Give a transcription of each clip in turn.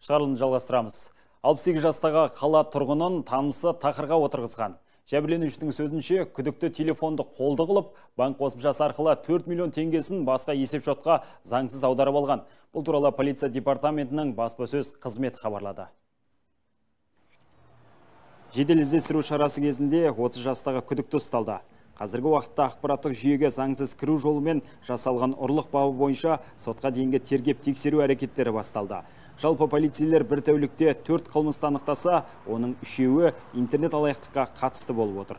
Шығарылымды жалғастырамыз. 68 жастағы қала тұрғынын танысы тақырға отырғызған. Жәбірленушінің сөзінше, күдікті телефонды қолды қылып, банк қосымшасы арқылы 4 миллион теңгесін басқа есепшотқа заңсыз аударып алған. Бұл туралы полиция департаментінің баспасөз қызметі хабарлады. Жедел іздестіру шарасы кезінде 30 жастағы күдікті ұсталды. Қазіргі уақытта ақпараттық жүйеге заңсыз кіру жолымен жасалған ұрлық бабы бойынша сотқа дейінгі тергеп тексеру әрекеттері басталды. Жалпы полицейлер бір тәулікте 4 қылмысты анықтаса, оның 3-еуі интернет алаяқтыққа қатысты болып отыр.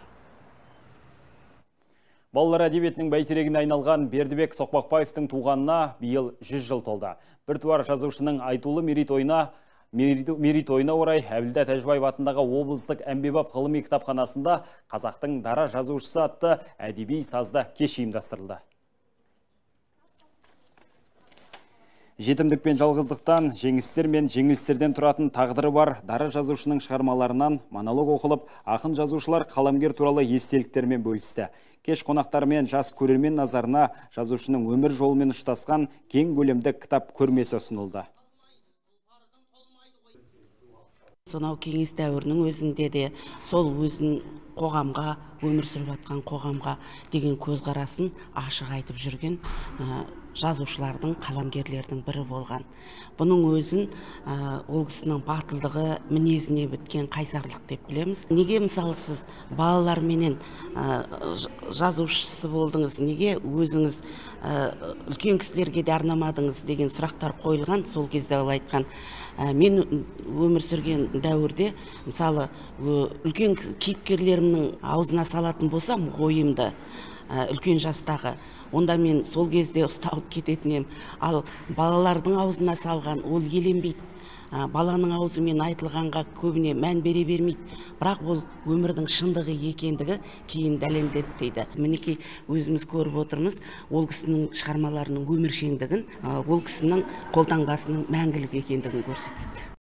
Балалар әдебиетінің бәйтерегіне айналған Бердібек Соқпақбаевтың туғанына биыл 100 жыл толды. Біртуар жазушының айтулы мерейтойына орай Әбілда Тәжібаев атындағы облыстық әмбебап ғылыми кітапханасында қазақтың дара жазушысы атты әдеби сазды кеш ұйымдастырылды. Жетімдік пен жалғыздықтан, жеңістер мен жеңілістерден тұратын тағдыры бар дара жазушының шығармаларынан монолог оқылып, ақын жазушылар қаламгер туралы естеліктермен бөлісті. Кеш қонақтар мен жас көрермен назарына жазушының өмір жолымен ұштасқан кең көлемді кітап көрмесі ұсынылды. Сонау кеңес дәуірінің өзінде де сол өзін қоғамға, өмір сүріп жатқан қоғамға деген көзқарасын ашық айтып жүрген жазушылардың, қаламгерлердің бірі болған. Бұның өзін ол кісінің батылдығы, мінезіне біткен қайсарлық деп білеміз. Неге мысалы сіз балаларменен жазушысы болдыңыз, неге өзіңіз үлкен кісілерге де арнамадыңыз деген сұрақтар қойылған. Сол кезде ол айтқан, мен өмір сүрген дәуірде мысалы үлкен кейіпкерлерімнің аузына салатын болсам ойымды үлкен жастағы, онда мен сол кезде ұсталып кететін ем. Ал балалардың аузына салған ол еленбейді. Баланың аузымен айтылғанға көбіне мән бере бермейді. Бірақ ол өмірдің шындығы екендігі кейін дәлелдеді дейді. Мінекей өзіміз көріп отырмыз, ол кісінің шығармаларының өміршеңдігін, ол кісінің қолтаңбасының мәңгілік екендігін көрсетеді.